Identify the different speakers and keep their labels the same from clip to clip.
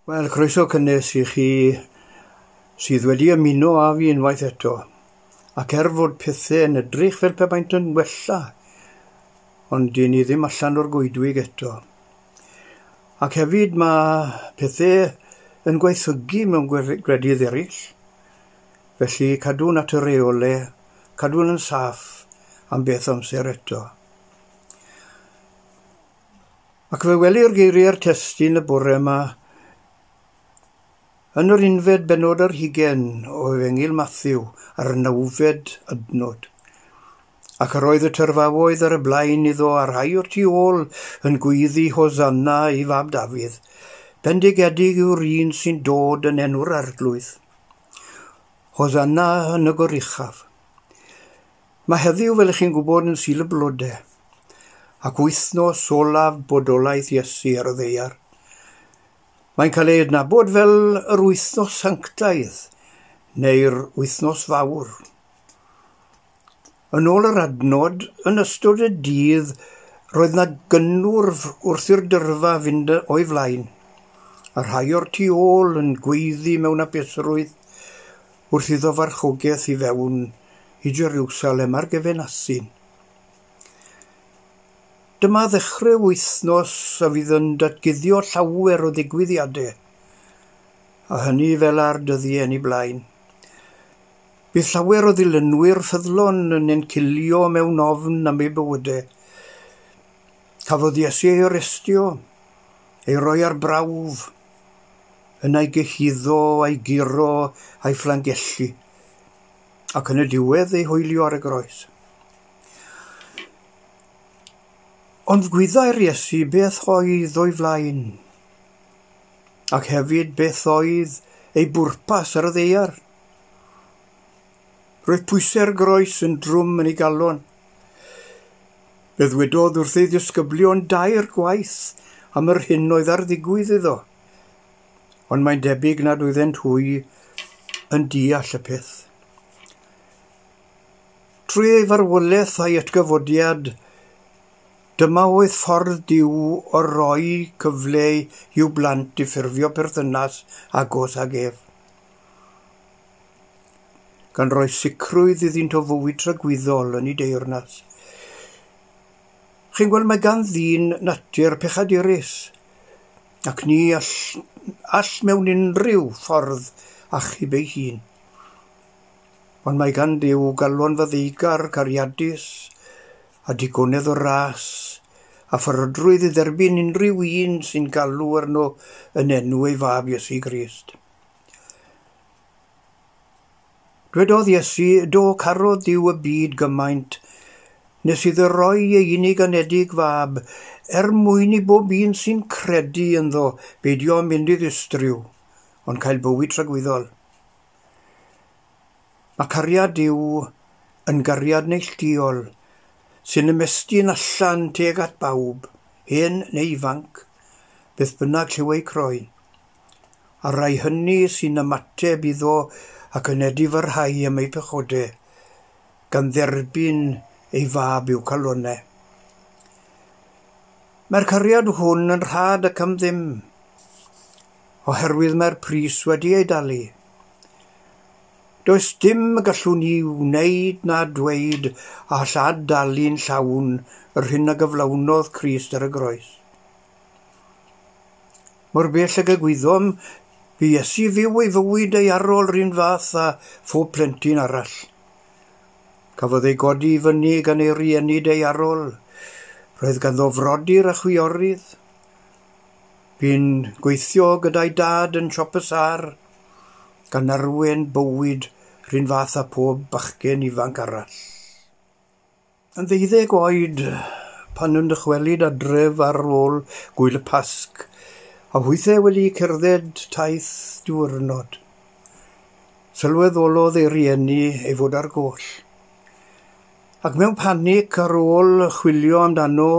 Speaker 1: Wel, croeso cynnes i chi sydd wedi ymuno â fi unwaith eto. Ac er fod pethau yn edrych fel pe baent yn wella, ond dyn ni ddim allan o'r goedwig eto. Ac hefyd mae pethau yn gwaethygu mewn gwledydd eraill. Felly cadw'n at y reolau, cadw'n yn saff am beth amser eto. Ac fe welir geiriau'r testun y bore yma yn yr unfed bennod ar hugain o Efengyl Mathew a'r nawfed adnod. Ac yr oedd y tyrfaoedd ar y blaen iddo a rhai o'r tu ôl yn gweiddi Hosanna i fab Dafydd. Bendigedig yw'r un sy'n dod yn enw'r Arglwydd. Hosanna yn y goruchaf. Mae heddiw, fel ych chi'n gwybod, yn Sul y Blodau, ac wythnos olaf bodolaeth Iesu ar y ddaear. Mae'n cael ei adnabod fel yr Wythnos Sanctaidd neu'r Wythnos Fawr. Yn ôl yr adnod, yn ystod y dydd roedd 'na gynnwrf wrth i'r dyrfa fynd o'i flaen, a rhai o'r tu ôl yn gweiddi mewn hapusrwydd wrth iddo farchogaeth i fewn i Jeriwsalem ar gefn asyn. Dyma ddechrau wythnos a fydd yn datguddio llawer o ddigwyddiadau, a hynny fel ar dyddiau yn ei blaen. Bydd llawer o ddilynwyr ffyddlon yn encilio mewn ofn am eu bywydau. Cafodd Iesu ei arestio, ei roi ar brawf, yna ei gyhuddo a'i guro a'i fflangellu, ac yn y diwedd ei hoelio ar y groes. Ond gwyddai'r Iesu beth oedd o'i flaen, ac hefyd beth oedd ei bwrpas ar y ddaear. Roedd pwysau'r groes yn drwm yn ei galon. Fe ddwedodd wrth ei ddisgyblion dair gwaith am yr hyn oedd ar ddigwydd iddo, ond mae'n debyg nad oeddent hwy yn deall y peth. Trwy ei farwolaeth a'i atgyfodiad, dyma oedd ffordd Duw o roi cyfle i'w blant i ffurfio perthynas agos ag ef, gan roi sicrwydd iddynt o fywyd tragwyddol yn ei deyrnas. Chi'n gweld, mae gan ddyn natur pechadurus, ac ni all, all mewn unrhyw ffordd achub ei hun. Ond mae gan Dduw galon faddeugar, cariadus, a digonedd o ras, a pharodrwydd i dderbyn unrhyw un sy'n galw arno yn enw ei fab Iesu Grist. Dwedodd Iesu, do, carodd Duw y byd gymaint, nes iddo roi ei unig anedig fab, er mwyn i bob un sy'n credu ynddo beidio â mynd i ddistryw, ond cael bywyd tragwyddol. Mae cariad Duw yn gariad neilltuol, sy'n ymestyn allan tuag at bawb, hen neu ifanc, beth bynnag lliw eu croen, a'r rhai hynny sy'n ymateb iddo ac yn edifarhau am eu pechodau, gan dderbyn ei fab i'w calonnau. Mae'r cariad hwn yn rhad ac am ddim, oherwydd mae'r pris wedi ei dalu. Does dim y gallwn ni wneud na dweud a all ad-dalu'n llawn yr hyn a gyflawnodd Crist ar y groes. Mor bell ag y gwyddom, bu Iesu fyw ei fywyd ei arol rhywun fath â phob plentyn arall. Cafodd ei godi i fyny gan ei rieni daearol. Roedd ganddo frodyr a chwiorydd. Bu'n gweithio gyda'i dad yn siop y sâr, gan arwain bywyd rhywun fath â phob bachgen ifanc arall. Yn ddeuddeg oed, pan yn dychwelyd adref ar ôl gwyl y Pasg, a hwythau wedi cerdded taith diwrnod, sylweddolodd ei rieni ei fod ar goll. Ac mewn panig ar ôl chwilio amdano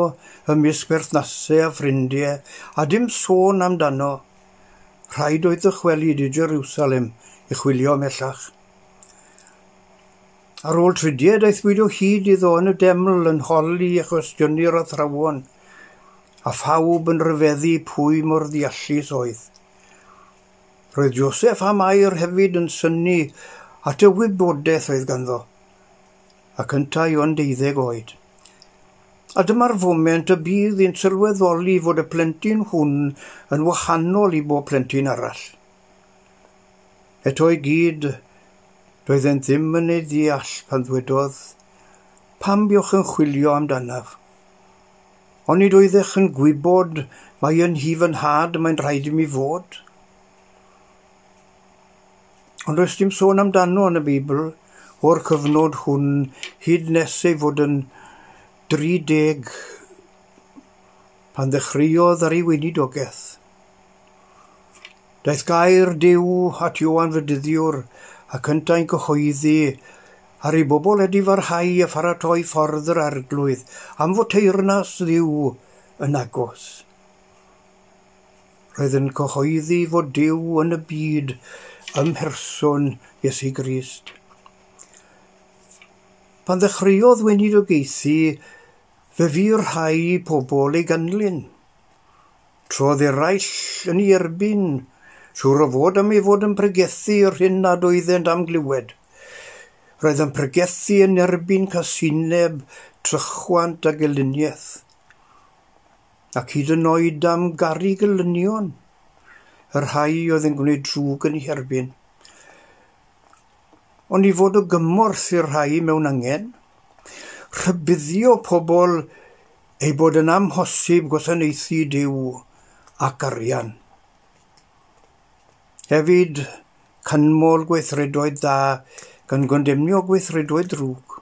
Speaker 1: ymysg berthnasau a ffrindiau, a dim sôn amdano, rhaid oedd dychwelyd i Jerusalem i chwilio ymhellach. Ar ôl tridiau, daethpwyd o hyd iddo yn y deml yn holi a chwestiynu'r athrawon, a phawb yn rhyfeddu pwy mor ddeallus oedd. Roedd Joseph a Mair hefyd yn synnu at y wybodaeth oedd ganddo, ac yntau ond 12 oed. A dyma'r foment y bydd hi'n sylweddoli fod y plentyn hwn yn wahanol i bob plentyn arall. Eto i gyd, doeddent ddim yn ei ddeall pan ddwedodd, "Pam buoch yn chwilio amdanaf? Onid oeddech yn gwybod mai yn nhŷ fy nhad mae'n rhaid i mi fod?" Ond does dim sôn amdano yn y Beibl o'r cyfnod hwn hyd nes ei fod yn 30 pan ddechreuodd ar ei weinidogaeth. Daeth gair Duw at Ioan Fedyddiwr ac yntau'n cyhoeddi ar ei bobl edifarhau a pharatoi ffordd yr Arglwydd am fod teyrnas Dduw yn agos. Roedd yn cyhoeddi fod Duw yn y byd ym mherson Iesu Grist. Pan ddechreuodd weinidogaethu, fe fu rhai pobl ei ganlyn. Trodd eraill yn ei erbyn, siŵr o fod am ei fod yn pregethu yr hyn nad oeddent am glywed. Roedd yn pregethu yn erbyn casineb, trychwant a gelyniaeth, ac hyd yn oed am garu gelynion, y rhai oedd yn gwneud drwg yn eu herbyn. Ond i fod o gymorth i'r rhai mewn angen, rhybuddio pobl ei bod yn amhosib gwasanaethu Duw ac arian. Hefyd, canmol gweithredoedd da gan gondemnio gweithredoedd drwg.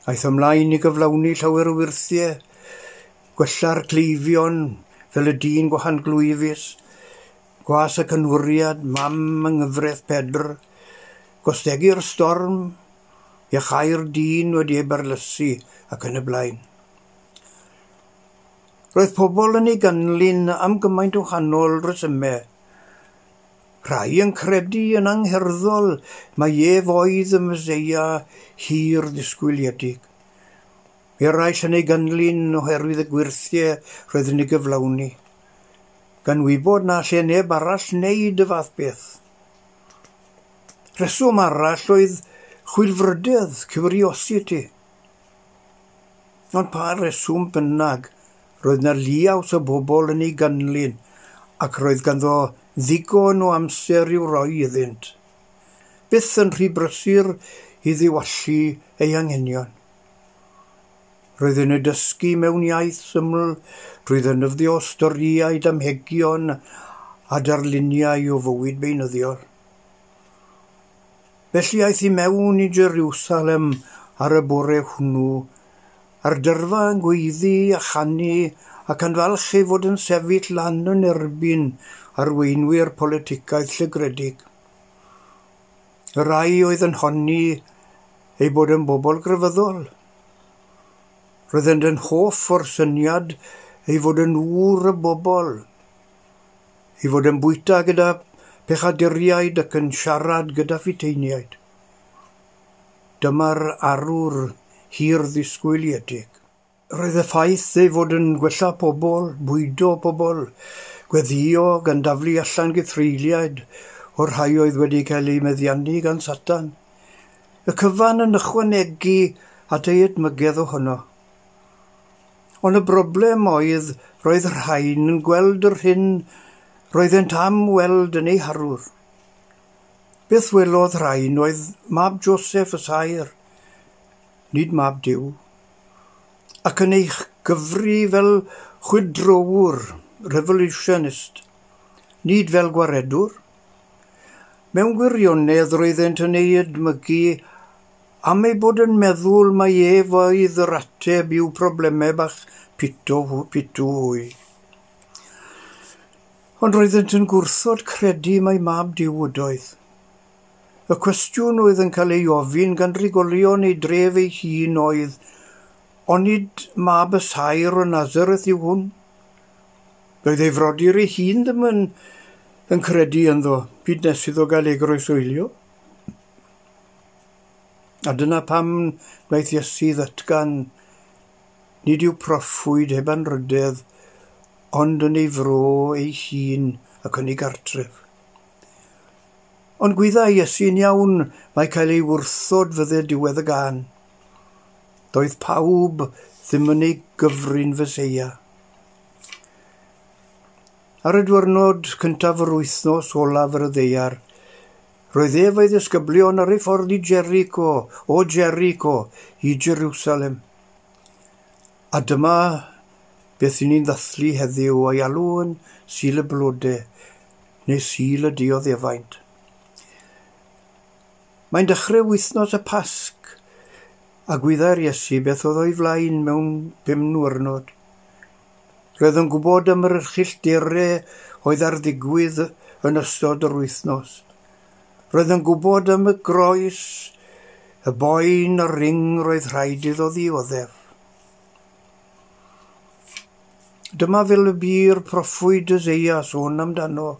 Speaker 1: Aeth ymlaen i gyflawni llawer o wyrthiau, gwella'r cleifion fel y dyn gwahanglwyfus, gwas y cynwriad, mam yng nghyfraith Pedr, gostegu'r storm, iachau'r dyn wedi ei barlysu ac yn y blaen. Roedd pobl yn ei ganlyn am gymaint o wahanol resymau. Rhai yn credu yn angherddol mai ef oedd y Meseia hir ddisgwyliedig. Eraill yn ei ganlyn oherwydd y gwyrthiau roedd yn ei gyflawni, gan wybod na lle neb arall wneud y fath beth. Rheswm arall oedd chwilfrydedd, curiosity. Ond pa reswm bynnag, roedd 'na liaws o bobl yn ei ganlyn ac roedd ganddo ddigon o amser i'w roi iddynt. Byth yn rhy brysur i ddiwallu ei anghenion. Roedd yn ei dysgu mewn iaith syml drwy ddefnyddio storïau, damhegion a darluniau o fywyd beunyddiol. Felly aeth i mewn i Jerusalem ar y bore hwnnw, a'r dyrfa yn gweiddi a chanu ac yn falch ei fod yn sefyll lan yn erbyn arweinwyr politicaeth llygredig. Y rhai oedd yn honni ei bod yn bobl grefyddol. Roeddent yn hoff o'r syniad ei fod yn ŵr y bobl, ei fod yn bwyta gyda pechaduriaid ac yn siarad gyda phuteiniaid. Dyma'r arwr hir ddisgwyliedig. Roedd y ffaith ei fod yn gwella pobl, bwydo pobl, gweddïo gan daflu allan gythreuliaid o'r rhai oedd wedi cael eu meddiannu gan Satan. Y cyfan yn ychwanegu at ei edmygedd ohono. Ond y broblem oedd roedd rhain yn gweld yr hyn roeddent am weld yn ei harwr. Beth welodd rhain oedd mab Joseph y saer, nid mab Duw, ac yn ei gyfri fel chwydrowr, revolutionist, nid fel gwaredwr. Mewn gwirionedd roeddent yn ei edmygu am ei bod yn meddwl mai ef oedd yr ateb i'w problemau bach pitw hwy. Ond roeddent yn gwrthod credu mai mab Duw ydoedd. Y cwestiwn oedd yn cael ei ofyn gan drigolion ei dref ei hun oedd, onid mab y saer o Nazareth yw hwn? Doedd ei frodyr ei hun ddim yn credu ynddo, hyd nes iddo gael ei groeshoelio. A dyna pam wnaeth Iesu ddatgan, nid yw proffwyd heb anrhydedd, ond yn ei fro ei hun ac yn ei gartref. Ond gwyddai Iesu'n iawn mai cael ei wrthod fydde diwedd y gân. Doedd pawb ddim yn ei gyfrin Feseia. Ar y diwrnod cyntaf yr wythnos olaf ar y ddaear, roedd ef a'i ddisgyblion ar ei ffordd i Jericho, o Jericho, i Jerusalem. A dyma beth i ni'n ddathlu heddiw a'i alw yn Sul y Blode, neu Sul y Dioddefaint. Mae'n dechrau wythnos y Pasg, a gwyddai'r Iesu beth oedd o'i flaen mewn 5 niwrnod. Roedd yn gwybod am yr erchyllterau oedd ar ddigwydd yn ystod yr wythnos. Roedd yn gwybod am y groes, y boen a'r ring roedd rhaid iddo ddioddef. Dyma fel y bu'r proffwyd Eseia sôn amdano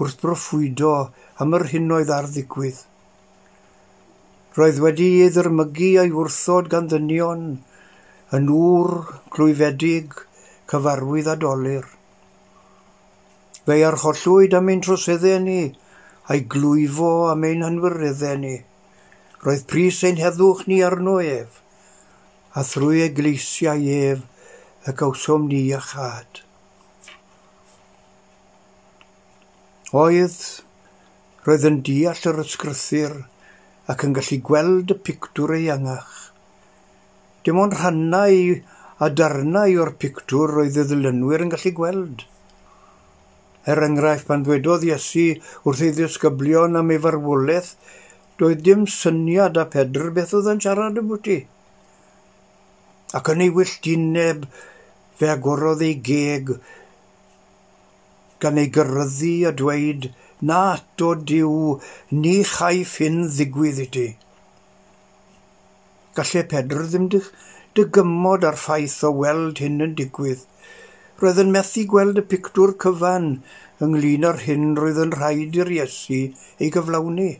Speaker 1: wrth broffwydo am yr hyn oedd ar ddigwydd. Roedd wedi ei ddirmygu a'i wrthod gan ddynion, yn ŵr clwyfedig, cyfarwydd a dolur. Fe'i archollwyd am ein troseddau ni, a'i glwyfo am ein hanwireddau ni. Roedd pris ein heddwch ni arno ef, a thrwy ei gleisiau ef y gawsom ni iachâd. Oedd, roedd yn deall yr ysgrythur ac yn gallu gweld y pictwr eangach. Dim ond rhannau a darnau o'r pictwr roedd y ddilynwyr yn gallu gweld. Er enghraifft, pan ddwedodd Iesu wrth ei ddisgyblion am ei farwolaeth, doedd dim syniad a Pedr beth oedd yn siarad ambwti. Ac yn ei wylltineb fe agorodd ei geg gan ei gyrryddu a dweud, "Na ato Duw, ni chaiff hyn ddigwydd i ti." Gallai Pedr ddim dygymod â'r ffaith o weld hyn yn digwydd. Roedd yn methu gweld y pictwr cyfan ynglyn â'r hyn roedd yn rhaid i'r Iesu ei gyflawni.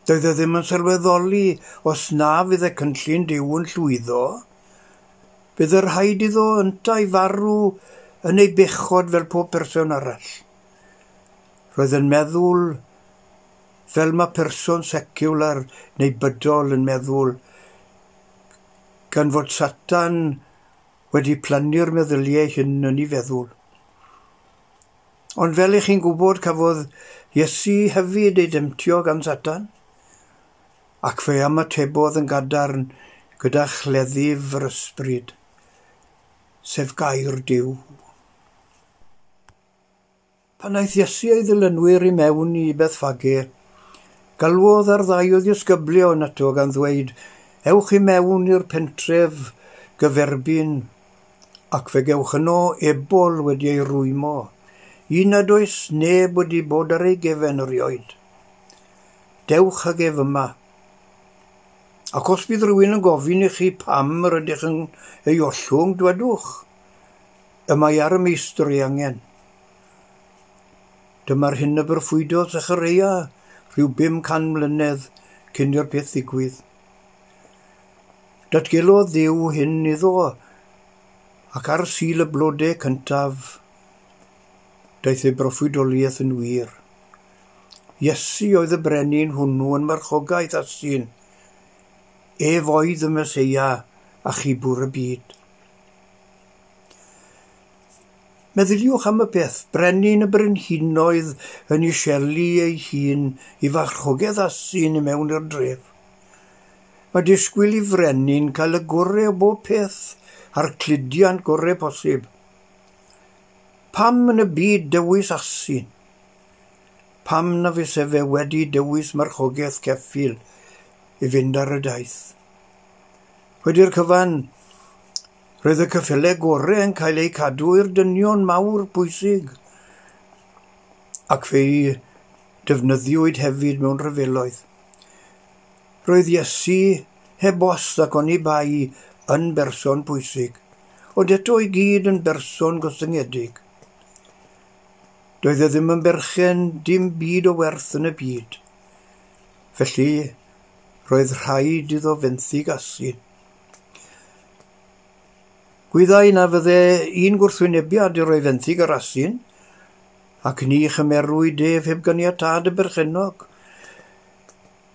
Speaker 1: Doedd e ddim yn sylweddoli os na fydd y cynllun Duw yn llwyddo, bydd y rhaid iddo yntau farw yn ei bechod fel pob person arall. Roedd yn meddwl fel mae person seciwlar neu bydol yn meddwl, gan fod Satan wedi plannu'r meddyliau hyn yn ei feddwl. Ond fel ych chi'n gwybod, cafodd Iesu hefyd ei demtio gan Satan, ac fe ymatebodd yn gadarn gyda chleddyf yr ysbryd, sef gair Duw. Pan aeth Iesu a'i ddilynwyr i mewn i Bethffage, galwodd ar ddau o ddisgyblion ato gan ddweud, "Ewch i mewn i'r pentref gyferbyn, ac fe gewch yno ebol wedi ei rwymo, un nad oes neb wedi bod ar ei gefen erioed. Dewch ag ef yma. Ac os bydd rhywun yn gofyn i chi pam yr ydych yn ei ollwng, dwedwch, y mae ar y meistr ei angen." Dyma'r hyn y broffwydodd Zechareia rhyw 500 mlynedd cyn i'r peth ddigwydd. Datgelodd Dduw hyn iddo, ac ar Sul y Blode cyntaf, daeth ei broffwydoliaeth yn wir. Iesu oedd y brenin hwnnw yn marchogaeth asyn. Ef oedd y Meseia a chibwr y byd. Meddyliwch am y peth, brenin y brenhinoedd yn iselu ei hun i farchogaeth asyn i mewn i'r dref. Mae disgwyl i frenin cael y gorau o bob peth a'r cludiant gorau posib. Pam yn y byd dewis asyn? Pam na fyse fe wedi dewis marchogaeth ceffyl i fynd ar y daith? Wedi'r cyfan, roedd y ceffylau gorau yn cael eu cadw i'r dynion mawr pwysig, ac fe'i defnyddiwyd hefyd mewn rhyfeloedd. Roedd Iesu heb os ac oni bai yn berson pwysig, ond eto i gyd yn berson gostyngedig. Doedd e ddim yn berchen dim byd o werth yn y byd. Felly, roedd rhaid iddo fenthyg asyn. Gwyddai na fydde un gwrthwynebiad i roi fenthyg yr asyn, ac ni chymerwyd ef heb ganiatâd y berchennog.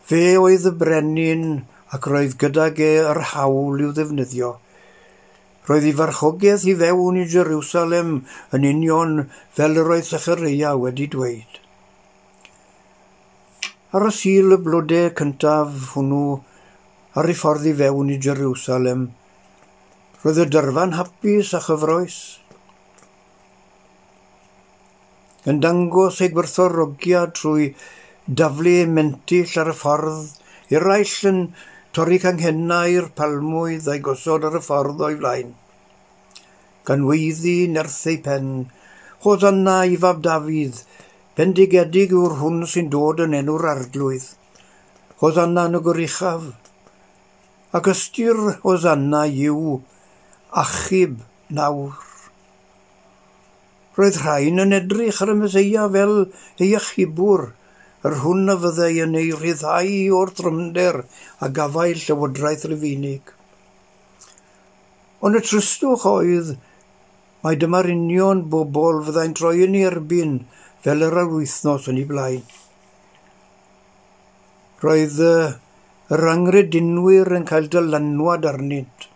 Speaker 1: Fe oedd y brenin ac roedd gydag e yr hawl i'w ddefnyddio. Roedd ei farchogaeth i fewn i Jerusalem yn union fel yr oedd Sechareia wedi dweud. Ar y Sul y blodau cyntaf hwnnw ar ei ffordd i fewn i Jerusalem, roedd y dyrfa'n hapus a chyfroes. Yn dangos ei gwerthfawrogiad trwy daflu ei mentyll ar y ffordd, eraill yn torri canghennau'r palmwydd a'i gosod ar y ffordd o'i flaen. Gan weiddi nerth ei pen, Hosanna i fab Dafydd, bendigedig yw'r hwn sy'n dod yn enw'r arglwydd. Hosanna yn y goruchaf. Ac ystyr Hosanna yw achub nawr. Roedd rhain yn edrych ar y Meseia fel ei achubwr, yr hwn a fyddai yn ei rhyddhau o'r trymder a gafael llywodraeth Rufeinig. Ond y tristwch oedd mai dyma'r union bobl fyddai'n troi yn ei erbyn fel yr wythnos yn ei blaen. Roedd yr anghredinwyr yn cael dylanwad arnynt.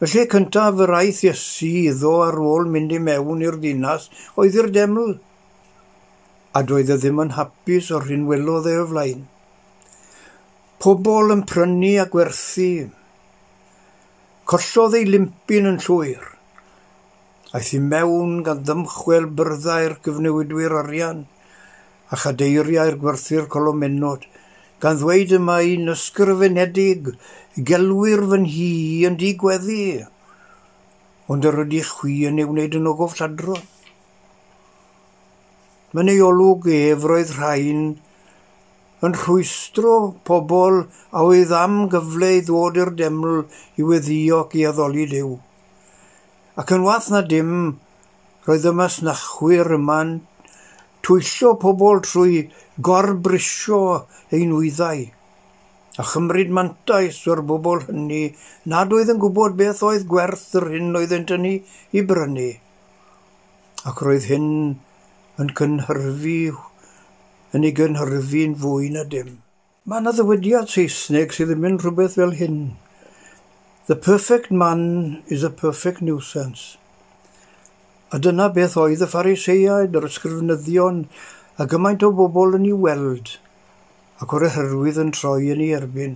Speaker 1: Y lle cyntaf yr aeth Iesu iddo ar ôl mynd i mewn i'r ddinas oedd i'r deml, a doedd e ddim yn hapus o'r hyn welodd e o flaen. Pobl yn prynu a gwerthu. Collodd ei limpyn yn llwyr. Aeth i mewn gan ddymchwel byrddau'r cyfnewidwyr arian a chadeiriau'r gwerthu'r colomennod, gan ddweud y mae'n ysgrifenedig, gelwir fy nhŷ yn dŷ gweddi, ond yr ydych chwi yn ei wneud yn ogof lladron. Yn ei olwg ef roedd rhain yn rhwystro pobl a oedd am gyfle i ddod i'r deml i weddïo ac i addoli Duw. Ac yn wath na dim, roedd y masnachwyr yma'n twyllo pobl trwy gorbrisio eu nwyddau a chymryd mantais o'r bobl hynny nad oedd yn gwybod beth oedd gwerth yr hyn oeddent yn ei brynu. Ac roedd hyn yn ei gynhyrfu'n fwy na dim. Mae yna ddywediad Saesneg sydd yn mynd rhywbeth fel hyn. The perfect man is a perfect nuisance. A dyna beth oedd y Phariseaid, yr ysgrifenyddion, a gymaint o bobl yn ei weld, ac o'r oherwydd yn troi yn ei erbyn.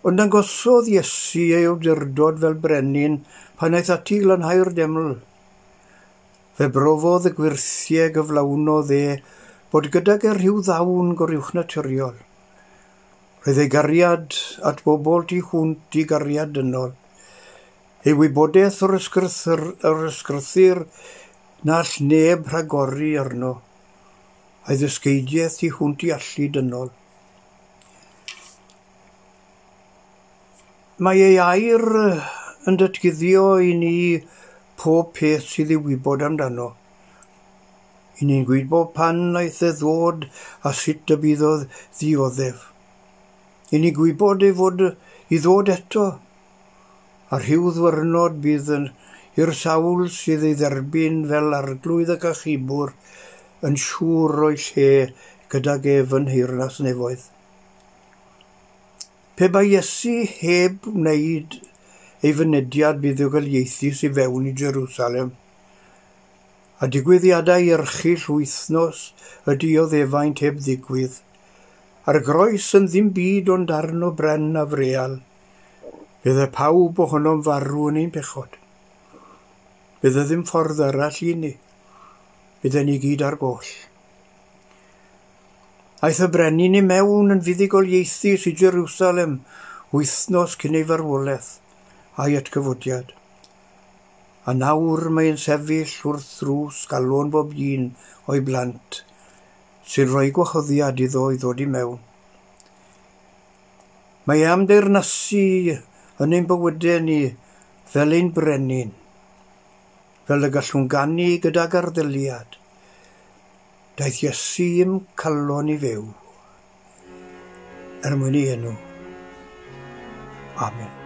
Speaker 1: Ond dangosodd Iesu ei awdurdod fel brenin pan aeth ati i lanhau'r deml. Fe brofodd y gwyrthiau gyflawnodd e bod gydag e rhyw ddawn goruwchnaturiol. Roedd ei gariad at bobl tu hwnt i gariad dynol. Ei wybodaeth o'r ysgrythur na all neb rhagori arno, a'i ddysgeidiaeth tu hwnt i allu dynol. Mae ei air yn datguddio i ni pob peth sydd i'w wybod amdano. I ni'n gwybod pan wnaeth e ddod a sut y bydd o ddioddef. I ni'n gwybod ei fod i ddod eto, a rhyw ddwyrnod bydd i'r sawl sydd ei dderbyn fel arglwydd ac achubwr yn siŵr o'i lle gydag ef yn nheyrnas nefoedd. Pe bai Iesu heb wneud ei fynediad buddugoliaethus i fewn i Jerusalem, a digwyddiadau erchyll wythnos y dioddefaint heb ddigwydd, a'r groes yn ddim byd ond darn o bren a freal, bydde pawb ohonom farw yn ein pechod. Bydde ddim ffordd arall i ni. Bydden ni gyd ar goll. Aeth y brenin i mewn yn fuddugoliaethus i Jerusalem wythnos cyn ei farwolaeth a'i atgyfodiad. A nawr mae'n sefyll wrth ddrws galon bob un o'i blant sy'n rhoi gwahoddiad iddo i ddod i mewn. Mae am deyrnasu yn ein bywydau ni fel ein brenin, fel y gallwn ganu gydag arddeliad. Daeth Iesu i'm calon i fyw, er mwyn ei enw. Amen.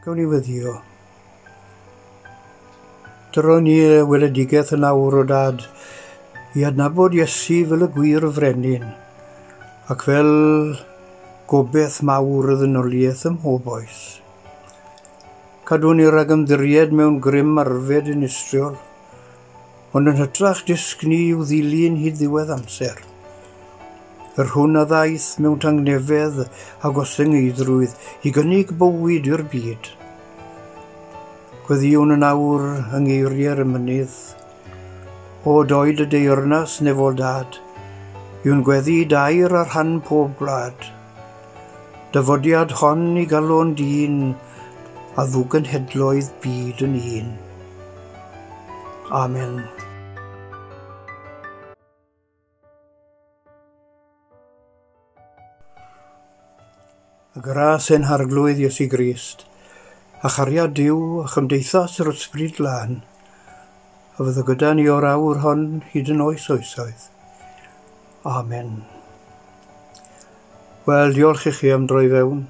Speaker 1: Gawn ni weddio. Dyro ni y weledigaeth yn awr o Dad i adnabod Iesu fel y gwir frenin ac fel gobeith mawr y ddynoliaeth ym mhob oes. Cadw ni rhag ymddiried mewn grym arfed dinistriol, ond yn hytrach dysg ni i'w ddilyn hyd ddiwedd amser. Yr hwn a ddaeth mewn tangnefedd a gostyngeiddrwydd i gynnig bywyd i'r byd. Gweddïwn yn awr yng ngeiriau'r emynydd. O doed y deyrnas nefol Dad, yw'n gweddi dair ar rhan pob gwlad. Dyfodiad hon i galon dyn a ddwgynhedloedd byd yn un. Amen. Y gras ein Harglwydd Iesu Grist, a chariad Duw a chymdeithas yr Ysbryd Glân, a fyddo gyda ni o'r awr hon hyd yn oes oesoedd. Amen. Wel, diolch i chi am droi fewn,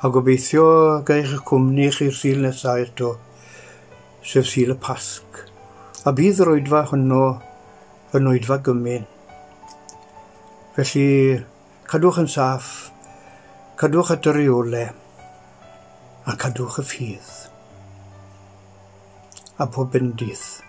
Speaker 1: a gobeithio gael eich cwmni chi'r Sul nesaf eto, sef Sul y Pasg. A bydd yr oedfa honno yn oedfa gymun. Felly, cadwch yn saff, cadwch at y reolau, a cadwch y ffydd. A pob bendith.